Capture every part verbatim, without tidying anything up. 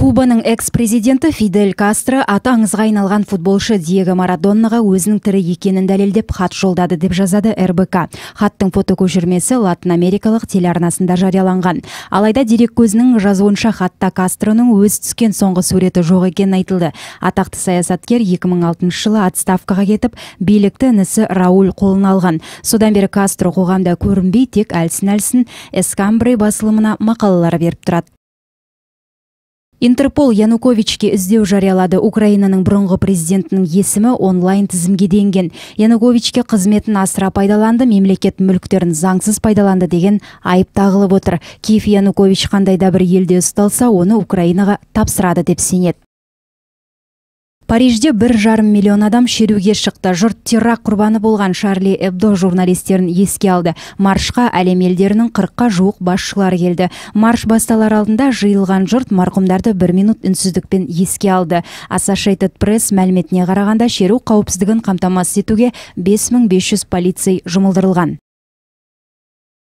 Кубаның экс-президенті Фидель Кастро аты аңызға айналған футболшы Диего Марадонаға өзінің тірі екенін дәлелдеп хат жолдады деп жазады эр бэ ка. Хаттың фотокөшірмесі Латын Америкалық телеарнасында жарияланған. Алайда дерек көзінің жазуынша хатта Кастроның өз түскен соңғы суреті жоқ екенін айтылды. Атақты саясаткер екі мың алтыншы жылы отставкаға кетіп, билікті інісі Рауль қолына алған. Содан бері Кастро қоғамда көрінбей, тек әлсін-әлсін Эскамбре басылымына мақалалар беріп тұрады. Интерпол Януковичке іздеу жариялады. Украинаның бұрынғы президентінің есімі онлайн тізімге енген. Януковичке қызметін асыра пайдаланды, мемлекет мүліктерін заңсыз пайдаланды деген айып тағылып отыр. Киев Янукович қандай да бір елде ұсталса, оны Украинаға тапсырады деп сенеді. Парижде бір жарым миллион адам шеруге шықты. Жұрт террор құрбаны болған Шарли Эбдо журналистерін еске алды. Маршқа әлем елдерінің қырыққа жуық басшылары келді. Марш басталар алдында жиылған жұрт марқұмдарды бір минут үнсіздікпен еске алды. Associated Press мәліметіне қарағанда шеру қауіпсіздігін қамтамасыз етуге бес мың бес жүз полицей жұмылдырылған.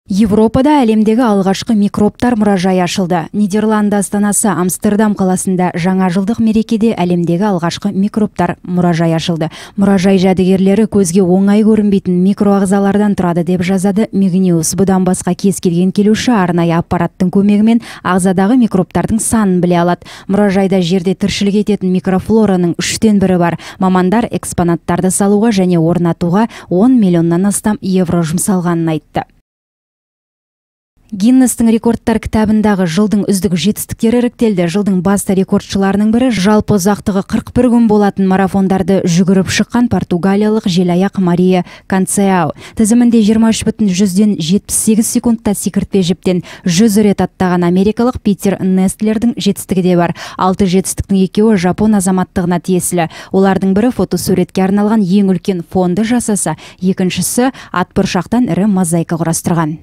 Европада әлемдегі алғашқы микробтар мұражайы ашылды. Нидерланды астанасы Амстердам қаласында жаңа жылдық мерекеде әлемдегі алғашқы микробтар мұражайы ашылды. Мұражай жәдігерлері көзге оңай көрінбейтін микроағзалардан тұрады деп жазады Мегниус. Бұдан басқа кез келген келуші арнайы аппараттың көмегімен ағзадағы микробтардың санын біле алады. Мұражайда жерде тіршілік ететін микрофлораның үштен бірі бар. Мамандар экспонаттарды салуға және орнатуға он миллионнан астам евро жұмсалғанын айтты. Гиннестің рекордтар кітабындағы жылдың үздік жетістіктері іріктелді. Жылдың басты рекордшыларының бірі жалпы ұзақтығы қырық бір күн болатын марафондарды жүгіріп шыққан португалиялық желаяқ Мария Концеау. Тізімінде жиырма үш бүтін жүзден жетпіс сегіз секундта секіртпе жіптен жүз рет аттаған америкалық Питер Нестлердің жетістігі де бар. Алты жетістіктің екеуі жапон азаматтығына тиесілі. Олардың бірі фотосуретке арналған ең үлкен фонды жасаса, екіншісі атбұршақтан ірі мозаика құрастырған.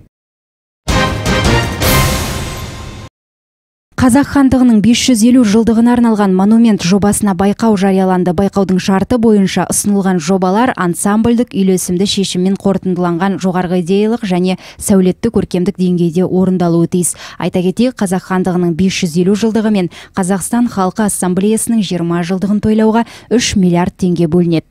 Қазақ хандығының бес жүз елу жылдығына арналған монумент жобасына байқау жарияланды. Байқаудың шарты бойынша ұсынылған жобалар ансамбльдік үйлесімді шешіммен қорытындыланған жоғарғы идеялық және сәулетті көркемдік деңгейде орындалуы тиіс. Айта кетейік, Қазақ хандығының бес жүз елу жылдығы мен Қазақстан халқы ассамблеясының жиырма жылдығын тойлауға үш миллиард теңге бөлінеді.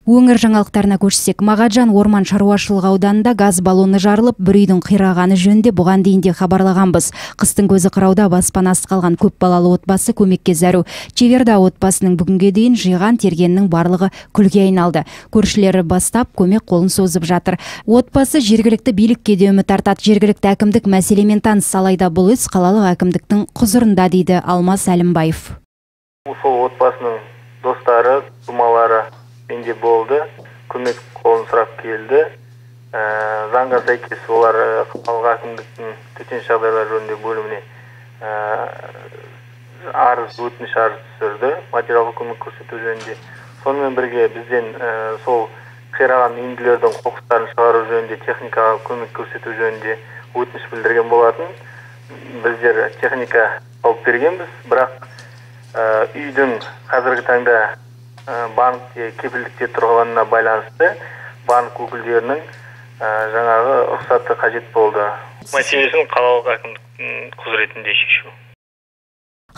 Өңір жаңалықтарына көшсек, Мағаджан орман шаруашылығы ауданында газ баллоны жарылып, бір үйдің қирағаны жөнінде бұған дейін де хабарлағанбыз. Қыстың көзі қырауда баспанасыз қалған көп балалы отбасы көмекке зәру. Чеверда отбасының бүгінге дейін жиған тергеннің барлығы күлге айналды. Көршілері бастап көмек қолын созып жатыр. Отбасы жергілікті билікке де үміт артады. Жергілікті әкімдік мәселемен таныс, алайда бұл іс қалалық әкімдіктің құзырында, дейді Алмас Әлімбаев. Сол отбасының достары, тумалары менде болды, көмек қолын сұрап келді. Заңға сәйкес олар қалалық әкімдіктің төтенше жағдайлар жөніндегі бөліміне арыз, өтініш арыз түсірді, материалдық көмек көрсету жөнінде. Сонымен бірге бізден сол қираған үйінділердің қоқыстарын шығару жөнінде, техникаға көмек көрсету жөнінде өтініш білдірген болатын. Біздер техника алып бергенбіз, бірақ үйдің қазіргі таңда банкте кепілдікте тұрғанына байланысты банк өкілдерінің жаңағы рұқсаты қажет болды. Мәселесін қалалық әкімдіктің құзыретінде шешу.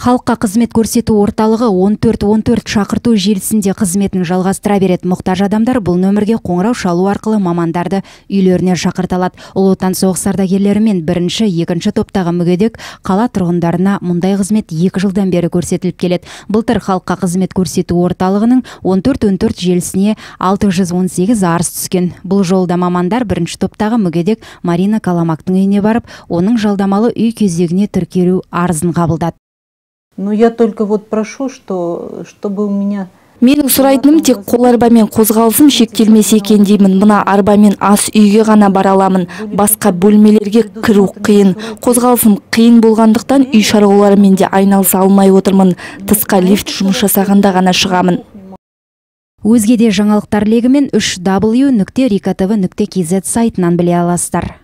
Халыққа қызмет көрсету орталығы он төрт он төрт шақырту желісінде қызметін жалғастыра береді. Мұқтаж адамдар бұл нөмірге қоңырау шалу арқылы мамандарды үйлеріне шақырта алады. Ұлы отан соғыс ардагерлері мен бірінші, екінші топтағы мүгедек қала тұрғындарына мұндай қызмет екі жылдан бері көрсетіліп келеді. Былтыр халыққа қызмет көрсету орталығының он төрт он төрт желісіне алты жүз он сегіз арыз түскен. Бұл жолда мамандар бірінші топтағы мүгедек Марина Каламактың үйіне барып, оның жалдамалы үй кезегіне тіркелу арызын қабылдады. Но я только вот прошу, что чтобы у меня Менің сұрайтыным тек қол арбамен қозғалысым шектелмесе екен деймін. Мына арбамен ас үйге ғана бара аламын. Басқа бөлмелерге кіру қиын. Қозғалысым қиын болғандықтан үй шаруаларымен де айналыса алмай отырмын. Тысқа лифт жұмыс жасағанда ғана шығамын. Өзге де жаңалықтар легімен үш дабл ю нүкте рика тэ вэ нүкте кз сайтынан біле аласыздар.